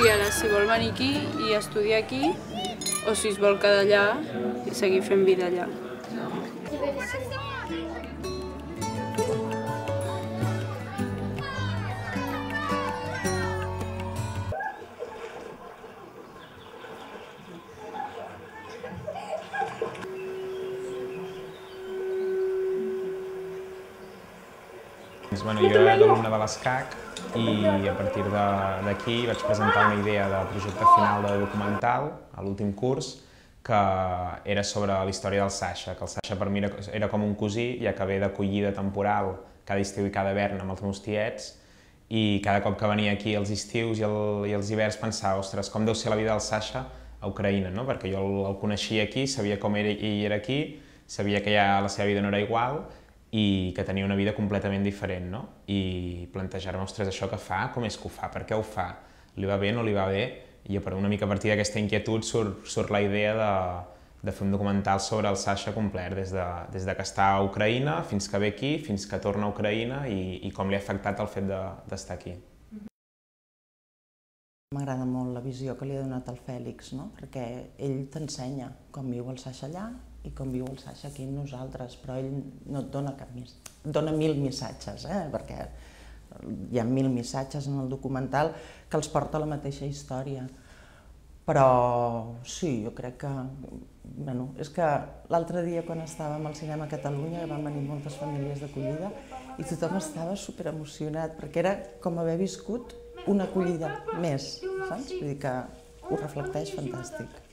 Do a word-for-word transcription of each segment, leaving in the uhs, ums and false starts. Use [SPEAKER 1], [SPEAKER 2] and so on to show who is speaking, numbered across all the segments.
[SPEAKER 1] triarà si vol venir aquí i estudiar aquí o si es vol quedar allà i seguir fent vida allà.
[SPEAKER 2] Bueno, jo era d'alumne de l'ESCAC i a partir d'aquí vaig presentar una idea de projecte final de documental a l'últim curs que era sobre la història del Sasha, que el Sasha per mi era, era com un cosí, ja que ve d'acollida temporal cada estiu i cada hivern amb els meus tiets, i cada cop que venia aquí els estius i, el, i els hiverns pensava, ostres, com deu ser la vida del Sasha a Ucraïna, no? Perquè jo el, el coneixia aquí, sabia com era, ell era aquí, sabia que ja la seva vida no era igual i que tenia una vida completament diferent, no? I plantejar-me, ostres, això que fa, com és que ho fa, per què ho fa? Li va bé, no li va bé? I una mica a partir d'aquesta inquietud surt, surt la idea de, de fer un documental sobre el Sasha complet, des de, des de que està a Ucraïna fins que ve aquí, fins que torna a Ucraïna i, i com li ha afectat el fet d'estar de, aquí.
[SPEAKER 3] M'agrada molt la visió que li ha donat el Fèlix, no? Perquè ell t'ensenya com viu el Sasha allà i com viu el Sasha aquí amb nosaltres, però ell no et dona cap més, et dona mil missatges, eh? Perquè hi ha mil missatges en el documental que els porta a la mateixa història. Però sí, jo crec que... Bueno, és que l'altre dia quan estàvem al cinema a Catalunya van venir moltes famílies d'acollida i tothom estava superemocionat perquè era com haver viscut una acollida més, saps? Vull dir que ho reflecteix fantàstic.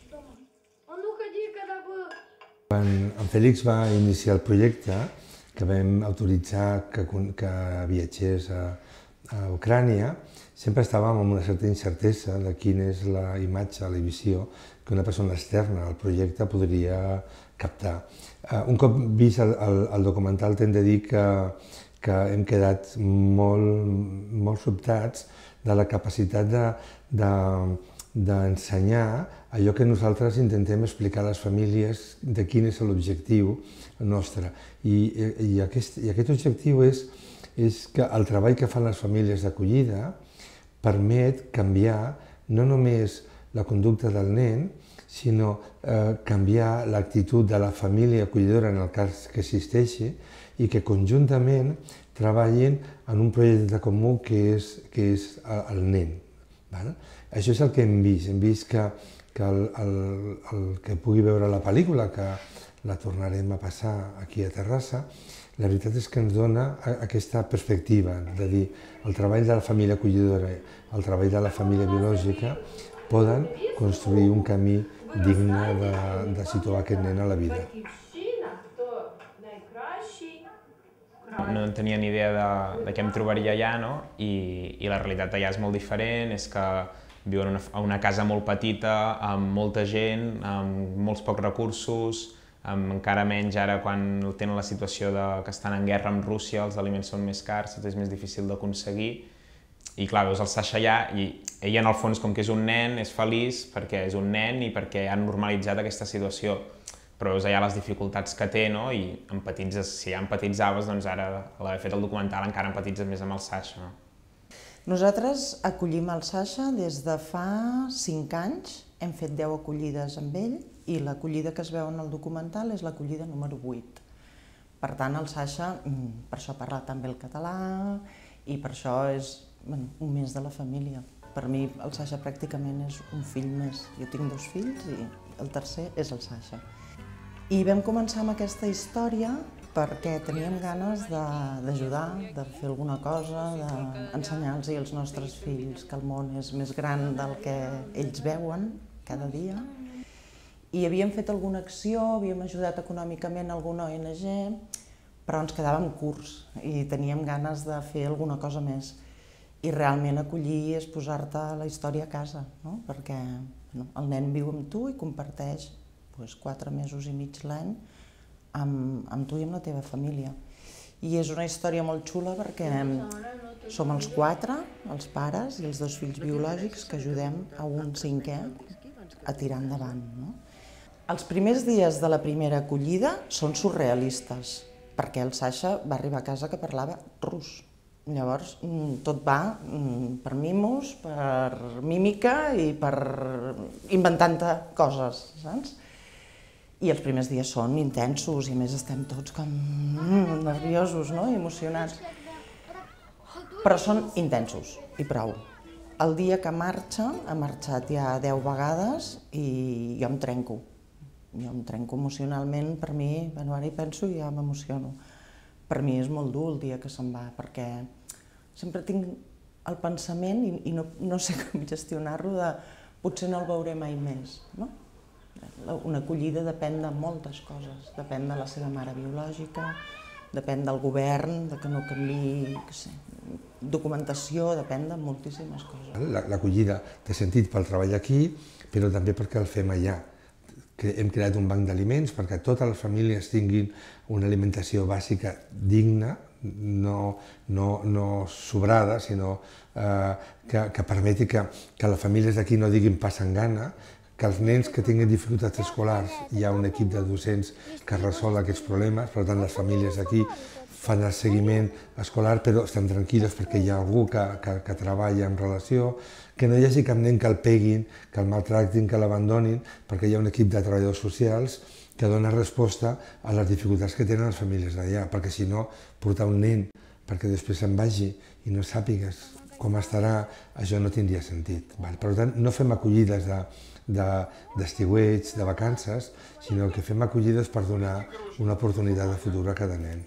[SPEAKER 4] Quan en Fèlix va iniciar el projecte, que vam autoritzar que, que viatgés a, a Ucrània, sempre estàvem amb una certa incertesa de quina és la imatge, la visió que una persona externa al projecte podria captar. Un cop vist el, el, el documental, t'hem de dir que, que hem quedat molt, molt sobtats de la capacitat de, de, d'ensenyar allò que nosaltres intentem explicar a les famílies de quin és l'objectiu nostre. I, i, aquest, i aquest objectiu és, és que el treball que fan les famílies d'acollida permet canviar no només la conducta del nen, sinó eh, canviar l'actitud de la família acollidora en el cas que existeixi i que conjuntament treballin en un projecte comú que és, que és el nen. Val? Això és el que hem vist. Hem vist que, que el, el, el que pugui veure la pel·lícula, que la tornarem a passar aquí a Terrassa, la veritat és que ens dona aquesta perspectiva de dir el treball de la família acollidora, el treball de la família biològica poden construir un camí digne de, de situar aquest nen a la vida.
[SPEAKER 2] No tenia ni idea de, de què em trobaria allà, no? I, i la realitat allà és molt diferent, és que viuen en una, una casa molt petita, amb molta gent, amb molts pocs recursos, amb encara menys ara quan tenen la situació de, que estan en guerra amb Rússia, els aliments són més cars, és més difícil d'aconseguir. I clar, veus el Sasha allà i ell en el fons com que és un nen és feliç perquè és un nen i perquè han normalitzat aquesta situació. Però veus allà les dificultats que té, no? I empatitzes, si ja empatitzaves, doncs ara a l'haver fet el documental encara empatitzes més amb el Sasha. No?
[SPEAKER 3] Nosaltres acollim el Sasha des de fa cinc anys, hem fet deu acollides amb ell i l'acollida que es veu en el documental és l'acollida número vuit. Per tant, el Sasha, per això parla també el català i per això és bueno, un més de la família. Per mi el Sasha pràcticament és un fill més. Jo tinc dos fills i el tercer és el Sasha. I vam començar amb aquesta història perquè teníem ganes d'ajudar, de, de fer alguna cosa, d'ensenyar-los als nostres fills que el món és més gran del que ells veuen cada dia. I havíem fet alguna acció, havíem ajudat econòmicament alguna O N G, però ens quedàvem curts i teníem ganes de fer alguna cosa més. I realment acollir és posar-te la història a casa, no? Perquè no, el nen viu amb tu i comparteix doncs, quatre mesos i mig l'any amb, amb tu i amb la teva família. I és una història molt xula perquè som els quatre, els pares i els dos fills biològics, que ajudem a un cinquè a tirar endavant. No? Els primers dies de la primera acollida són surrealistes, perquè el Sasha va arribar a casa que parlava rus. Llavors, tot va per mimos, per mímica i per inventant-te coses, saps? I els primers dies són intensos i a més estem tots com nerviosos, no? I emocionats. Però són intensos i prou. El dia que marxa, ha marxat ja deu vegades i jo em trenco. Jo em trenco emocionalment, per mi, bueno, ara hi penso i ja m'emociono. Per mi és molt dur el dia que se'n va, perquè sempre tinc el pensament i no sé com gestionar-lo de potser no el veuré mai més, no? Una acollida depèn de moltes coses, depèn de la seva mare biològica, depèn del govern, de que no canviï, què sé, documentació, depèn de moltíssimes coses.
[SPEAKER 4] L'acollida té sentit pel treball aquí, però també perquè el fem allà. Hem creat un banc d'aliments perquè totes les famílies tinguin una alimentació bàsica digna, no, no, no sobrada, sinó eh, que, que permeti que, que les famílies d'aquí no diguin passen gana, que els nens que tinguin dificultats escolars hi ha un equip de docents que resol aquests problemes, per tant les famílies d'aquí fan el seguiment escolar però estan tranquil·les perquè hi ha algú que, que, que treballa en relació, que no hi hagi cap nen que el peguin, que el maltractin, que l'abandonin, perquè hi ha un equip de treballadors socials que dona resposta a les dificultats que tenen les famílies d'allà, perquè si no, portar un nen perquè després se'n vagi i no sàpigues com estarà, això no tindria sentit. Per tant, no fem acollides d'estiueig, de vacances, sinó que fem acollides per donar una oportunitat de futur a cada nen.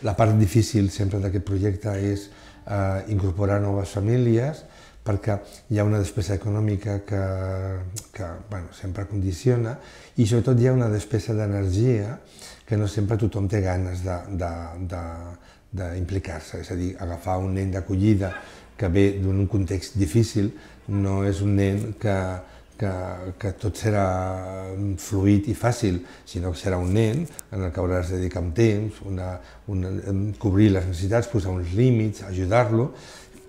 [SPEAKER 4] La part difícil sempre d'aquest projecte és incorporar noves famílies, perquè hi ha una despesa econòmica que, que bueno, sempre condiciona i sobretot hi ha una despesa d'energia que no sempre tothom té ganes d'implicar-se, és a dir, agafar un nen d'acollida que ve d'un context difícil no és un nen que, que, que tot serà fluid i fàcil, sinó que serà un nen en el que hauràs de dedicar un temps, una, una, cobrir les necessitats, posar uns límits, ajudar-lo,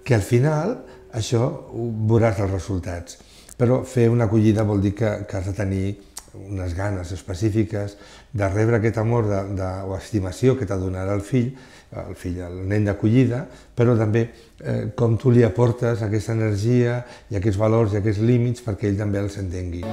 [SPEAKER 4] que al final això veuràs els resultats. Però fer una acollida vol dir que, que has de tenir unes ganes específiques de rebre aquest amor de, de, o estimació que t'ha donarà el fill, el fill, el nen d'acollida, però també eh, com tu li aportes aquesta energia i aquests valors i aquests límits perquè ell també els entengui.